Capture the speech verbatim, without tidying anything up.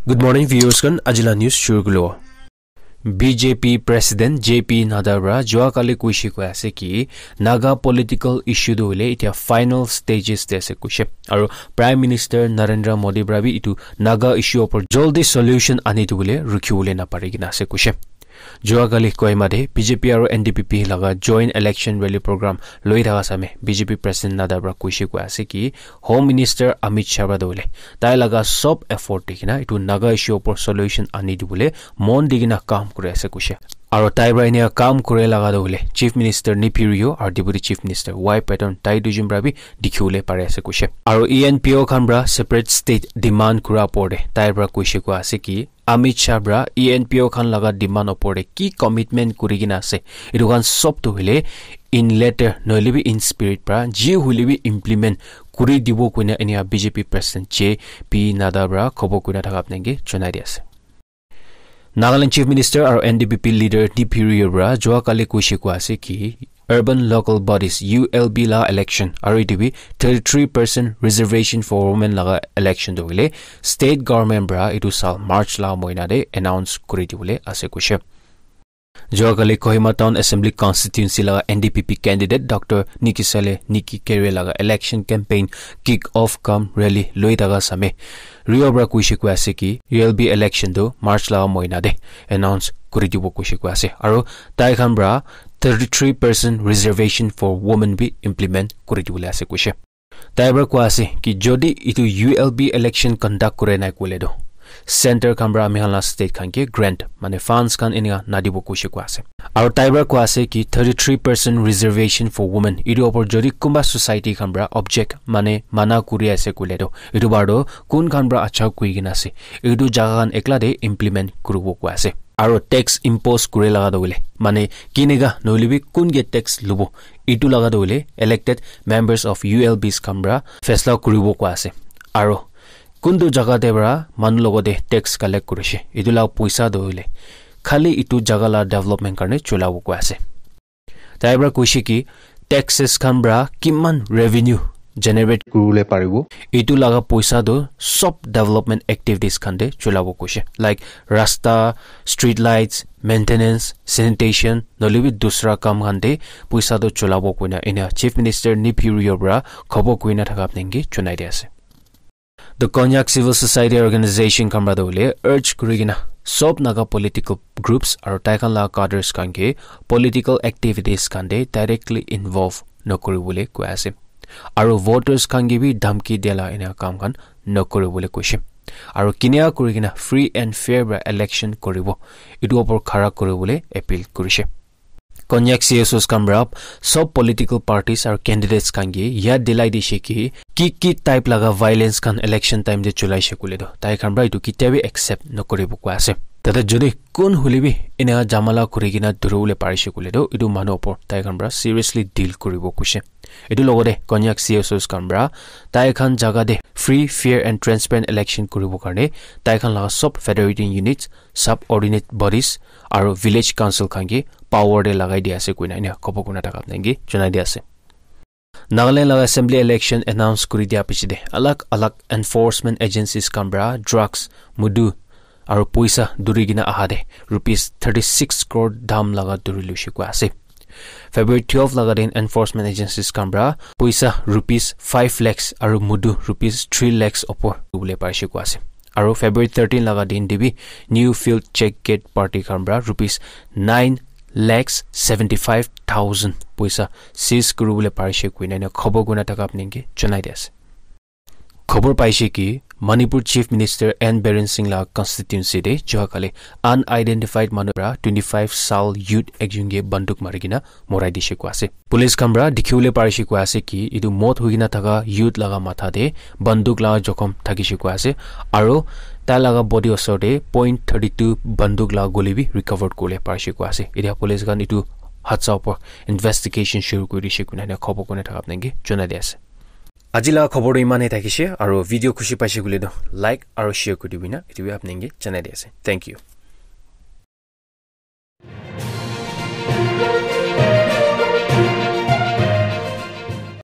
Good morning, viewers khan. Ajila news shuru kulo. B J P President J P Nadda pra jua kali kuishi koi ase ki Naga political issue tu hoile itia final stages te ase kuishe. Aru Prime Minister Narendra Modi pra bi itu Naga issue opor joldi solution ani tu bole rukhi bole na pari kina ase kuishe. Jua kali Kohima de B J P aru N D P P laga joint election rally program loi thaka same B J P President Nadda pra kuishi koi ase ki Home Minister Amit Shah pra tu bole tai laga sob effort di kina itu Naga issue opor solution ani tu bole mon di kina kam kuri ase kuishe. Aru tai pra enia kam kure laga tu hoile Chief Minister Neiphiu Rio aru Deputy Chief Minister Y Patton tai duijun pra bi dikhi bole pari ase kuishe. Aru E N P O khan pra separate state demand kura opor de tai pra kuishe koi ase ki Amit Shah pra E N P O khan laga demand opor de ki commitment kuri kina ase itu khan sob tu hoile in letter nohoile bi in spirit pra ji hoile bi implement kuri dibo koina enia B J P President J P Nadda pra khobo koina thaka apnenge jonai di ase. Nagaland Chief Minister aru N D P P leader Neiphiu Rio pra jua kali kuishi koi ase ki urban local bodies U L B la election aru itu bi thirty-three percent reservation for women laga election tu hoile state government pra itu sal March la moina de announce kuri dibole ase kuishe. Jua kali Kohima Town Assembly Constituency laga N D P P candidate Doctor Nikisale Niki Kere laga election campaign kick off cum rally loi thaka same Rio pra kuishi koi ase ki U L B election tu March laga moina de announce kuri dibo kuishi koi ase. Aru tai khan pra thirty-three percent reservation for women bi implement kuri dibole ase kuishe. Tai pra koi ase ki jodi itu U L B election conduct kure nai koile tu center khan pra ami khan la state khan ke grant mane funds khan enika nadibo kuishe koi ase. Aru tai pra koi ase ki thirty-three percent reservation for women itu opor jodi kunba society khan pra object mane mana kuri ase koile tu itu bar tu kun khan pra acha koi kina ase itu jaga khan ekla de implement kuribo koi ase. Aru tax impose kure laga tu hoile mane kineka nohoile bi kun ke tax lubo itu laga tu hoile elected members of U L Bs khan pra faisla kuribo koi ase. Aru kuntu jaga te pra manu logote tax collect kurishe itu la poisa tu hoile khali itu jaga la development karne cholabo koi ase. Tai pra kuishe ki taxes khan pra kiman revenue generate kuribole paribo itu laga poisa tu sob development activities khan te cholabo kuishe, like rasta, street lights, maintenance, sanitation nohoile bi dusra kam khan te poisa tu cholabo koina enia Chief Minister Neiphiu Rio pra khobo koina thaka apnenge jonai di ase. The Konyak Civil Society Organization khan pra tu hoile urge kuri kina sob Naga political groups aru tai khan la cadres khan ke political activities khan te directly involve nokuri bole koi ase. Aru voters khan ke bi dhamki dia la enia kam khan nokuri bole kuishe. Aru kinia kuri kina free and fair pra election kuribo itu opor khara kuri bole appeal kurishe. Konyak C S Os khan pra sob political parties aru candidates khan ke yad dilai dishe ki ki ki type laga violence khan election time te cholaishe koile tu tai khan pra itu ketia bi accept nokuribo koi ase. Tate jodi kun hoile bi enia jamala kuri kina duribole parishe koile tu itu manu opor tai khan pra seriously deal kuribo kuishe. Itu logote Konyak C S Os khan pra tai khan jaga te free, fair and transparent election kuribo karne tai khan laga sob federating units, subordinate bodies aru village council khan ke power te lagai di ase koina enia khobo koina thaka apnenge jonai di ase. Nagaland laga assembly election announce kuri dia piche te alag alag enforcement agencies khan pra drugs, mudu aru poisa duri kina aha te rupees thirty-six crore dam laga duri luishe koi ase. February twelve laga din enforcement agencies khan pra poisa rupees five lakhs aru mudu rupees three lakhs opor dibole parishe koi ase. Aru February thirteen laga din te bi New Field Check Gate party khan pra rupees nine lakhs seventy-five thousand poisa seize kuribole parishe koina enia khobo koina thaka apnenge jonai di ase. Khobor paishe ki Manipur Chief Minister N Biren Singh la constituency te jua kali unidentified manu pra twenty-five sal youth ekjon ke banduk mari kina morai dishe koi ase. Police khan pra dikhibole parishe koi ase ki itu mot hoi kina thaka youth laga matha te banduk laga jokhom thakishe koi ase aru tai laga body osor te point thirty-two banduk laga guli bi recovered kuribole parishe koi ase. Itia police khan itu hadsa opor investigation shuru kuri dishe koina enia khobo koina thaka apnenge jonai di ase. Aji laga khobor tu iman he thakishe aru video khushi paishe koile tu like aru share kuri dibi na itu bi apnenge jonai di ase. Thank you.